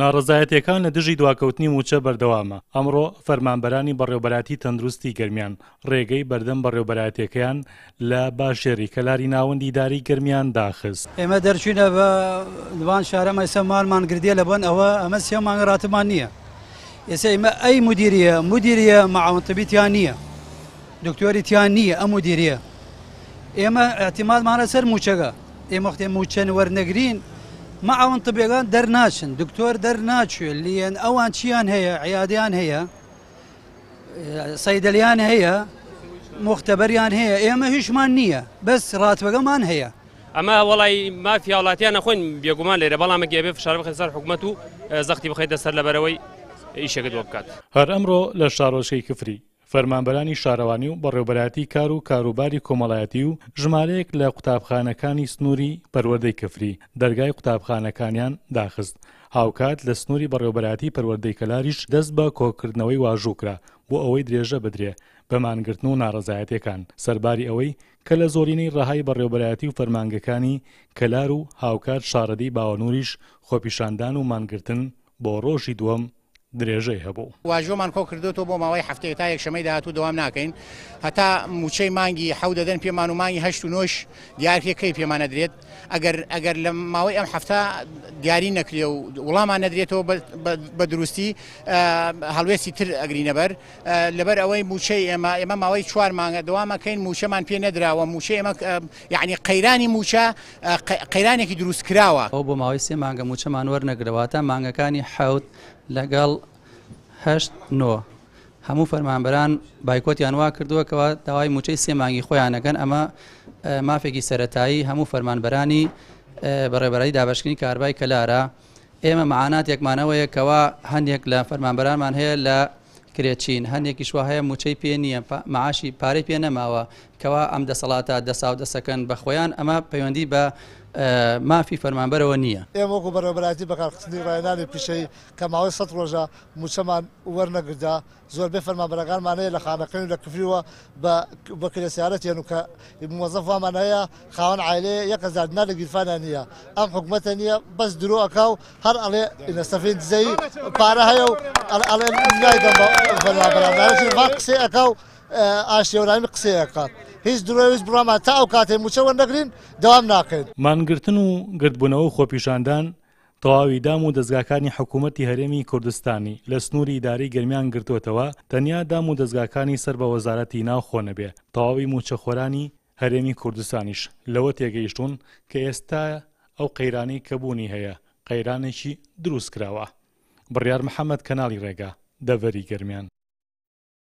ناڕەزایەتییەکان لە دژی دواکەوتنی مووچە بەردەوامە، ئەمڕۆ فەرمانبەرانی بەڕێوەبەرایەتی تەندروستی گەرمیان ڕێگەی بەردەم بەڕێوەبەرایەتیەکەیان لە باژێری کەلاری ناوەندی ئیدارەی گەرمیان داخست. ئێمە دەرچوینە بە وان شارە ئێستا مالمان گردیە لە بۆن ئەوە ئەمە سێ مانگە راتبمان نییە ئێستا ئێمە ئەی مدیریە مدیریە معاون طبی تیا نییە دکتۆری تیا نییە ئەم مدیریە ئێمە اعتمادمانە سەر موچەگە ئێمە وەختێ موچەن وەرنەگرین معاون طبیەکان دەرناچن دکتۆر دەرناچێ لیەن ئەوان چیان هەیە عیادیان هەیە سەیدەلیان هەیە مختبەریان هەیە ئێمە هیچمان نییە بەس ڕاتبەکەمان هەیە. ئەمە وەڵای مافی هاوڵاتیان نەخۆین بێگومان لێرە بەڵام ئەگەر ئەبێ فشار بخەین سەر حکومەت و زەختی بخەیتە سەر لەبەرەوەی ئیشەکەت بۆ بکات. هەر ئەمڕۆ لە شارۆچکەی کفری، فەرمانبەرانی شارەوانی و بەڕێوەبەرایەتی کار و کاروباری کۆمەڵایەتی و ژمارەیەک لە قوتابخانەکانی سنووری پەروەردەی کفری دەرگای قوتابخانەکانیان داخست، هاوکات لە سنووری بەڕێوەبەرایەتی پەروەردەی کەلاریش دەست بە کۆکردنەوەی واژوو کرا بۆ ئەوەی درێژە بدرێ بە مانگرتن و ناڕەزایەتیەکان سەرباری ئەوەی کە لە زۆرینەی ڕەهای بەڕێوەبەرایەتی و فەرمانگەکانی کەلار و هاوکات شاڕەدێی باوەنوریش خۆپیشاندان و مانگرتن بۆ ڕۆژی دووەم درێژەی هەبوو. واژۆمان کۆکردۆتەوە بۆ ماوەی هەفتەیەک تا یەکشەمەی داهاتوو دەوام ناکەین هەتا مووچەی مانگی حەوت دەدەن پێمان و مانگی هەشت و نۆش دیارکرێ کەی پێمان ئەدرێت ئەگەر ئەگەر لە ماوەی ئەم هەفتە دیاری نەکرێ و وڵامان نەدرێتەوە بە دروستی هەڵوێستی تر ئەگرینەبەر لەبەر ئەوەی مووچەی ئێمە ئێمە ماوەی چوار مانگە دەوامەکەین مووچەمان پێ نەدراوە مووچەی ئێمە یعنی قەیرانی مووچە قەیرانێکی دروست کراوە. ئەوە بۆ ماوەی سێ مانگە مووچەمان وەرنەگرە واتە مانگەکانی حەوت لەگەڵ هەشت نۆ هەموو فەرمانبەران بایکۆتیان وا کردووە کەوا داوای مووچەی سێ مانگی خۆیان ئەکەن ئەمە مافێکی سەرەتایی هەموو فەرمانبەرانی بەڕێوەبەرایەتی دابەشکردنی کارەبای کەلارە ئێمە مەعاناتێکمان ئەوەیە کەوا هەندێک لە فەرمانبەرانمان هەیە لە کرێچین هەندێکیش وا هەیە مووچەی پێ نییە معاشی پارەی پێ نەماوە کەوا ئەم دەسەڵاتە دەساو دەسەکەن بە خۆیان ئەمە پەیوەندی بە مافی فەرمانبەرەوە نییە. ئێمە وەکو بەڕێوەبەرایەتی بەکارخستنی ڕاهێنانی پیشەیی کە ماوەی سەت ڕۆژە مووچەمان وەرنەگردا، زۆربەی فەرمانبەرەکانمان هەیە لە خانەقین و لە کفریوە بە بە کرێ سیارە تێن و کە موەزەف وامان هەیە خاوەن عایلەیە 1000 دینار لە گیرفانیا نییە ئەم حکومەتە نییە بەس درۆ ئەکا و هەر ئەڵێ ئینە سەفین دزەیی پارە هەیە و ئەڵێ نایدەم بە فەرمانبەران قسەی ئەکا و ئاشتیەوەرامی قسەی ئەکات هیچ درۆ هیچ بڕامان تا ئەو کاتەی مووچە وەرنەگرین دەوام ناکەین. مانگرتن و گردبوونەوە و خۆپیشاندان تەواوی دام و دەزگاکانی حکوومەتی هەرێمی کوردستانی لە سنووری ئیدارەی گەرمیان گرتووەتەوە، تەنیا دام و دەزگاکانی سەر بە وەزارەتی ناوخۆ نەبێ، تەواوی مووچەخۆرانی هەرێمی کوردستانیش لەوە تێگەیشتوون کە ئێستا ئەو قەیرانەی کە بوونی هەیە، قەیرانێکی دروستکراوە. بڕیار محەمەد، کەناڵی ڕێگا، دەڤەری گەرمیان.